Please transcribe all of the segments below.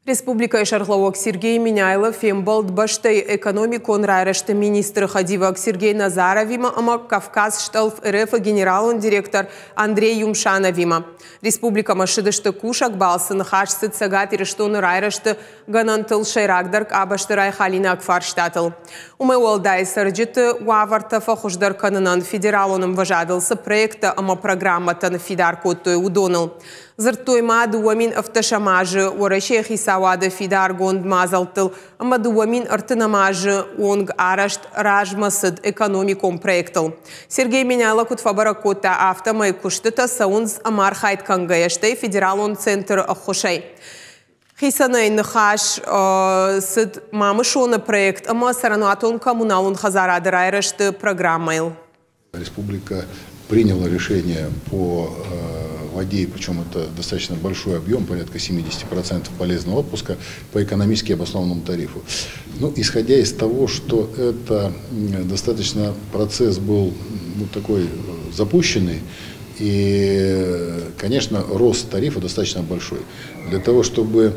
Республикӕйы сӕргълӕууӕг Сергей Меняйло фембӕлд бӕстӕйы экономикон райрӕзты министры хӕдивӕг Сергей Назаровимӕ ӕмӕ Кавказ-Стъӕлф РФ-ы генералон директор Андрей Юмшановимӕ. Республикӕмӕ ссыдысты кусӕг балцы, ныхас цыд Цӕгат Ирыстоны райрӕзты гӕнӕнтыл, сӕйрагдӕр къабӕзты райхалинаг фарстатыл. Уымӕй уӕлдай, цӕрджыты уавӕртӕ фӕхуыздӕр кӕнынӕн федералон ӕмвӕзадыл цы проекттӕ ӕмӕ программӕтӕ ныффидар кодтой, уыдоныл. Дзырдтой ма 2015 азы Уӕрӕсейы хицауады фидаргонд мадзӕлттыл ӕмӕ 2030 азы онг арӕзт размӕцыд экономикон проектыл. Сергей Меняйло куыд фӕбӕрӕг кодта, афтӕмӕй куыстытӕ цӕуынц ӕмархайд кӕнгӕйӕ, стӕй федералон центры ӕххуысӕй. Хицӕнӕй ныхас цыд Мамысоны проект ӕмӕ цӕрӕнуатон-коммуналон хӕдзарады райрӕзты программӕйыл. Республика приняла решение по воде, причем это достаточно большой объем, порядка 70% полезного отпуска по экономически обоснованному тарифу. Ну, исходя из того, что это достаточно процесс был, ну, такой запущенный, и, конечно, рост тарифа достаточно большой. Для того, чтобы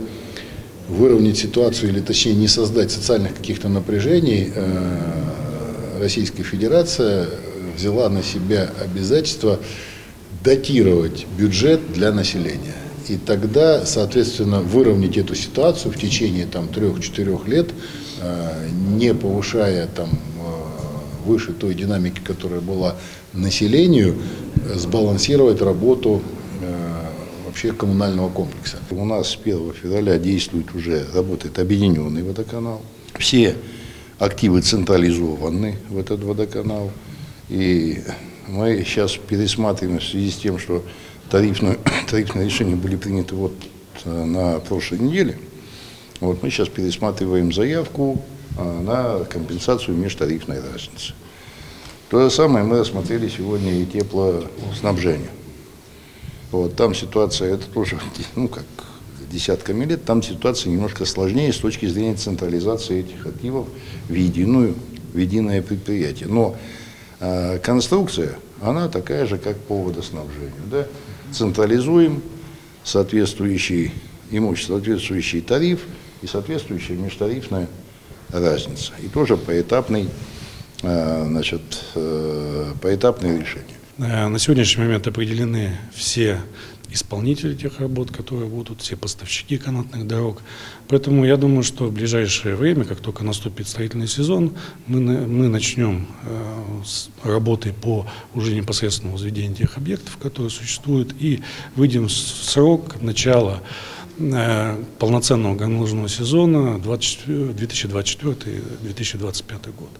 выровнять ситуацию, или точнее не создать социальных каких-то напряжений, Российская Федерация взяла на себя обязательство дотировать бюджет для населения. И тогда, соответственно, выровнять эту ситуацию в течение там 3-4 лет, не повышая там выше той динамики, которая была населению, сбалансировать работу вообще коммунального комплекса. У нас с 1 февраля действует уже, работает объединенный водоканал. Все активы централизованы в этот водоканал. И мы сейчас пересматриваем в связи с тем, что тарифные решения были приняты вот на прошлой неделе. Вот мы сейчас пересматриваем заявку на компенсацию межтарифной разницы. То же самое мы рассмотрели сегодня и теплоснабжение. Вот, там ситуация, это тоже, ну, как десятками лет, там ситуация немножко сложнее с точки зрения централизации этих активов в единое предприятие. Но конструкция, она такая же, как по водоснабжению. Да? Централизуем соответствующий имущество, соответствующий тариф и соответствующая межтарифная разница. И тоже поэтапный, значит, поэтапное решение. На сегодняшний момент определены все исполнители тех работ, которые будут, все поставщики канатных дорог. Поэтому я думаю, что в ближайшее время, как только наступит строительный сезон, мы начнем с работы по уже непосредственному возведению тех объектов, которые существуют, и выйдем в срок начала полноценного горнолыжного сезона 2024-2025 год.